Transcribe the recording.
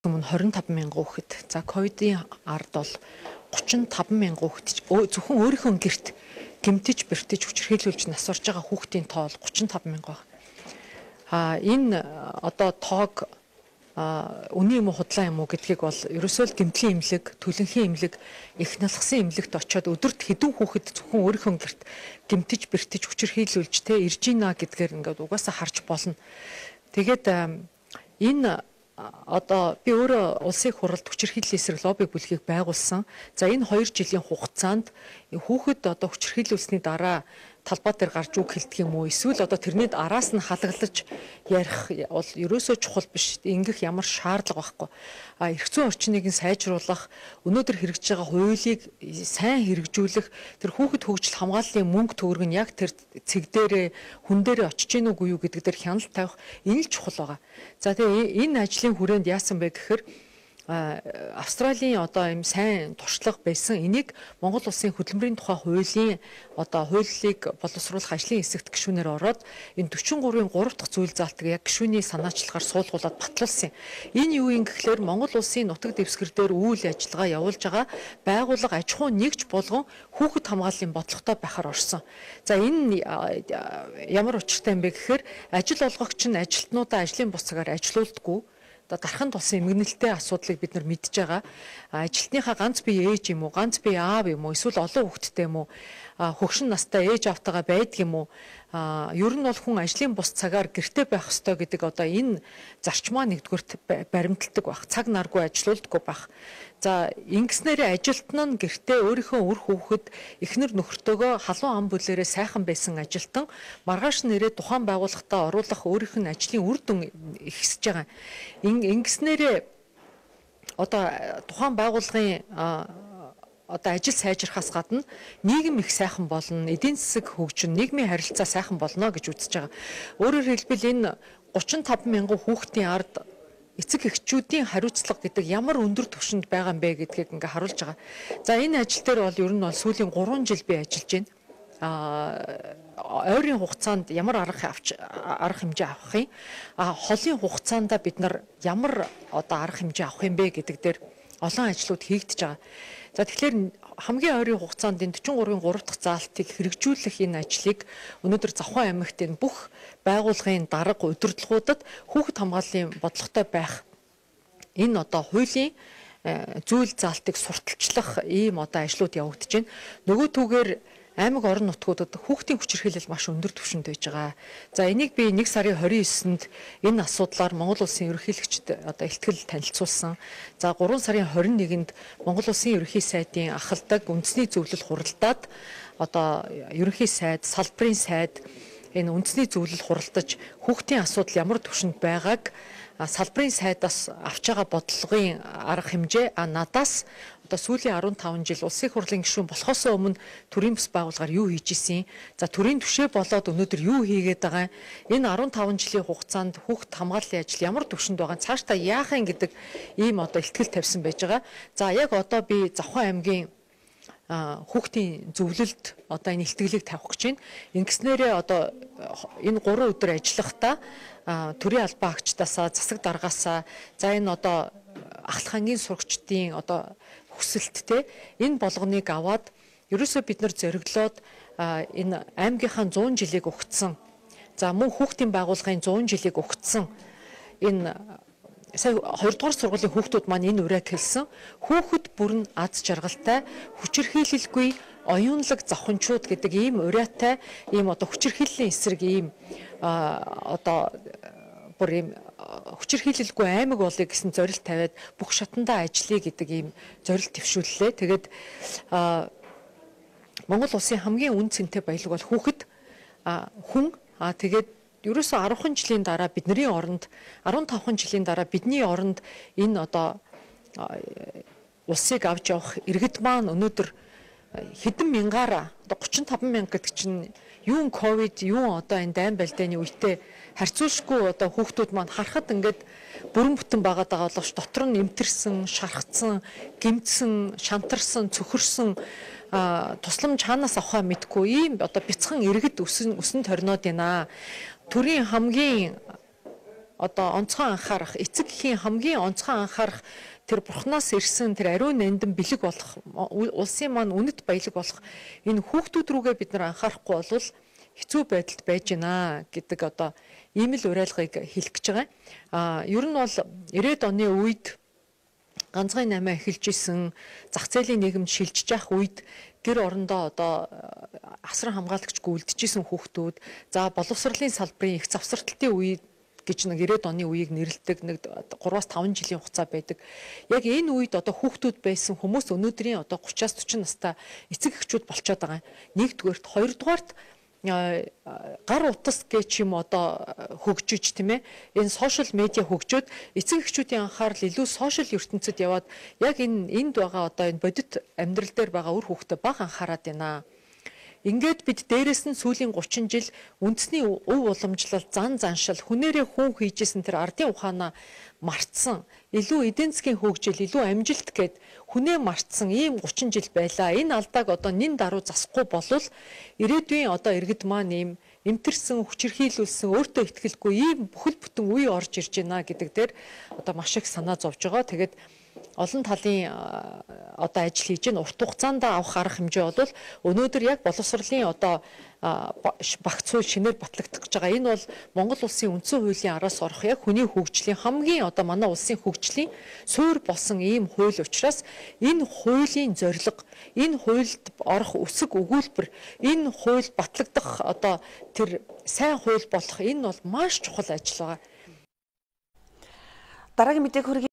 Өмнө 25,000 хүүхэд. За ковидын ард бол 35,000 хүүхэд зөвхөн өөрийнхөө гэрт гэмтэж бэртэж хүчирхийлүүлж нас орж байгаа хүүхдийн тоо 35,000 байна. Энэ одоо тоог үнэн юм уу худлаа юм уу гэдгийг бол ерөөсөө л гэмтлийн эмнэлэг, төлөнхийн эмнэлэг, их налхсан эмнэлэгт очиод өдөрт хэдэн хүүхэд зөвхөн өөрийнхөө гэрт гэмтэж бэртэж хүчирхийлүүлж ирж гинэ гэдгээр ингээд угаасаа харж болно. Тэгээд энэ одоо би өөрөө улсын хуралд хүчирхийллийн эсрэг лобби бүлгийг байгуулсан. За энэ 2 жилийн хугацаанд хүүхэд одоо хүчирхийлүүлсний дараа талбай дээр гарч үг хэлдэг юм уу? Эсвэл одоо тэрний араас нь халаглаж ярих бол ерөөсөө чухал биш. Ингэх ямар шаардлага байхгүй. Эрх зүйн орчныг сайжруулах, өнөөдөр хэрэгжиж байгаа хуулийг сайн хэрэгжүүлэх, тэр хүүхэд хөгжил хамгааллын мөнгө төгрөг нь яг тэр цэг дээрээ хүн дээрээ очиж гин үгүй юу гэдэг дээр хяналт тавих энэ л чухал байгаа. За тэгээ энэ ажлын хүрээнд яасан бэ гэхээр Австралийн одоо ийм сайн туршлага байсан энийг Монгол улсын хөдөлмөрийн тухай хуулийн одоо хуулийг боловсруулах ажлын хэсэгт гишүүнээр ороод энэ 43-ийн 3 дахь зүйл заалтыг яг гишүүний санаачлагаар суулгуулад батлуулсан. Энэ юу юм гэхээр Монгол улсын нутаг дэвсгэр дээр үйл ажиллагаа явуулж байгаа байгууллага аж ахуйн нэгж болгон хүүхэд хамгааллын бодлоготой байхаар орсон. За энэ ямар учиртай юм бэ гэхээр ажил олгогч нь ажилтнуудаа ажлын бус цагаар ажилуулдаггүй. Дархан тулсан эмгэнэлтэй асуудлыг бид нар мэдж байгаа. Ажилтныхаа ганц бие ээж юм уу, ганц бие аав юм уу, эсвэл олон хүүхэдтэй юм уу, хөгшин настай ээж автайгаа байдаг юм уу? Ер нь бол хүн ажлын бус цагаар гэртээ байх ёстой гэдэг одоо энэ зарчмаа нэгдүгürt баримталдаг байх. Цаг наргүй ажилуулдаггүй байх. За ингэснээрээ ажилтан нь гэртээ өөрийнхөө үр хүүхэд эхнэр нөхөртөөгөө халуун ам бүлээрээ сайхан байсан ажилтан маргааш нэрээ тухайн байгууллагатаа оруулах өөрийнх нь ажлын үр дүн ихсэж байгаа. Ингэснээрээ одоо тухайн байгууллагын одоо ажил сайжрахаас гадна нийгэм их сайхан болно, эдийн засаг хөгжин, нийгмийн харилцаа сайхан болно гэж үзэж байгаа. Өөрөөр хэлбэл энэ 35,000 хүүхдийн ард эцэг эхчүүдийн хариуцлага гэдэг ямар өндөр түвшинд байгаа юм бэ гэдгийг ингээ харуулж байгаа. За энэ ажил дээр бол ер нь бол сүүлийн 3 жил би ажиллаж байна. Ойрын хугацаанд ямар арга хэмжээ авах юм? Холын хугацаанд бид нар ямар одоо арга хэмжээ авах юм бэ гэдэг дээр олон ажлууд хийгдэж байгаа. За тэгэхээр хамгийн ойрын хугацаанд энэ 43-ийн 3 дахь заалтыг хэрэгжүүлэх энэ ажлыг өнөөдөр Завхан аймагт энэ бүх байгууллагын дарга удирдлагуудад хүүхэд хамгааллын бодлоготой байх энэ одоо хуулийн зүйл заалтыг сурталчлах ийм одоо ажлууд явагдаж байна. Нөгөө түгээр аймаг орон нутгуудад хүүхдийн хүчирхийлэл маш өндөр түвшинд байж байгаа. За энийг би 1 сарын 29-нд энэ асуудлаар Монгол улсын ерөнхийлөгчд одоо илтгэл танилцуулсан. За 3 сарын 21-нд Монгол улсын ерөнхий сайдын ахалдаг үндэсний зөвлөл хуралдаад одоо ерөнхий сайд, салбарын сайд энэ үндэсний зөвлөл хуралдаж хүүхдийн асуудал ямар түвшинд байгааг салбарын сайдаас авч байгаа бодлогын арга хэмжээ надаас одоо сүүлийн 15 жил улсын хурлын гишүүн болохоос өмнө төрийн бас байгууллагаар юу хийж исэн. За төрийн түвшээ болоод өнөөдөр юу хийгээд байгаа. Энэ 15 жилийн хугацаанд хүүхэд хамгааллын ажил ямар түвшинд байгаа. Цаашдаа яах юм гэдэг ийм одоо ихтгэл тавьсан байж байгаа. За яг одоо би Завхан аймгийн хүүхдийн зөвлөлд одоо энэ ихтгэлийг тавих гэж байна. Ингэснээрээ одоо энэ 3 өдөр ажиллахдаа төрийн албан агчдаасаа, засаг даргаасаа, за энэ одоо ахлах ангийн сурагчдын одоо хүсэлттэй энэ болгоныг аваад ерөөсөө бид нар зориглоод энэ аймгийнхаа 100 жилийг өгцөн. За мөн хүүхдийн байгууллагын 100 жилийг өгцөн. Энэ сая 2 дугаар сургуулийн хүүхдүүд маань энэ урайд хэлсэн. Хүүхэд бүрэн аз жаргалтай, хүчирхийлэлгүй оюунлаг завханчууд гэдэг ийм урайтай ийм одоо хүчирхийллийн эсрэг ийм одоо бүр ийм хүчирхийлэлгүй аймаг болъё гэсэн зорилт тавиад бүх шатандаа ажиллая гэдэг ийм зорилт төвшүүллээ. Тэгээд Монгол улсын хамгийн үн цэнтэй баялаг бол хүүхэд хүн тэгээд ерөөсөө 10 жилийн дараа бидний оронд 15 жилийн дараа бидний оронд энэ одоо улсыг авч явах иргэд маань өнөөдөр хэдэн мянгаараа одоо 35,000 гэдэг чинь юун ковид юун одоо энэ дайн байлдааны үедээ харьцуулшгүй одоо хүүхдүүд маань харахад ингээд бүрэн бүтэн байгаад байгаа боловч дотор нь эмтэрсэн, шархацсан, гэмтсэн, шантарсан, цөхөрсөн тусламж хаанаас авахаа мэдгүй ийм одоо бяцхан иргэд өсөн торноод байна. Төрийн хамгийн одоо онцгой анхаарах, эцэг эхийн хамгийн онцгой анхаарах тэр бурхнаас ирсэн тэр ариун нандин бэлэг болох, улсын маань үнэт баялаг болох энэ хүүхдүүд рүүгээ бид нар анхаарахгүй болвол хэцүү байдалд байж гинэ гэдэг одоо ийм л уриалгыг хэлэх гэж байгаа. Ер нь бол 90-ад оны үед ганцхан 8 эхэлж исэн зах зээлийн нийгэм шилжиж явах үед гэр орондоо одоо асран хамгаалагчгүй үлдчихсэн хүүхдүүд за боловсролын салбарын их завсралтын үед гэж нэг 90-ад оны үеийг нэрлэдэг нэг 3-5 жилийн хугацаа байдаг. Яг энэ үед одоо хүүхдүүд байсан хүмүүс өнөөдрийн одоо 30-аас 40 настай эцэг эхчүүд болчиход байгаа. Нэгдүгээрт, хоёрдугаарт гар утас гэж юм одоо хөгжиж тийм ээ энэ сошиал медиа хөгжөөд эцэг эхчүүдийн анхаарал илүү сошиал ертөнцид яваад яг энд байгаа одоо энэ бодит амьдрал дээр байгаа үр хүүхдэд бага анхаарат байна. Ингээд бид дээрээс нь сүүлийн 30 жил үндэсний өв уламжлал, зан заншил, хүнээрээ хүн хийжсэн тэр ардын ухаанаа мартсан, илүү эдийн засгийн хөгжил, илүү амжилт гэд хүнээ мартсан ийм 30 жил байлаа. Энэ алдааг одоо нин даруй засахгүй болвол ирээдүйн одоо иргэд маань ийм эмтэрсэн, хүчирхийлүүлсэн, өөртөө ихтгэлгүй ийм бүхэл бүтэн үе орж ирж байна гэдэг дээр одоо маш их санаа зовж байгаа. Тэгээд олон талын одоо ажил хийж гэн урт хугацаанд авах арга хэмжээ бол өнөөдөр яг боловсролын одоо багц хууль шинээр батлагдах гэж байгаа. Энэ бол Монгол улсын үндсэн хуулийн араас орох яг хүний хөгжлийн хамгийн одоо манай улсын хөгжлийн суурь болсон ийм хууль учраас энэ хуулийн зорилго, энэ хуульд орох үсэг өгүүлбэр, энэ хууль батлагдах одоо тэр сайн хууль болох энэ бол маш чухал ажил байгаа. Дараагийн мэдээг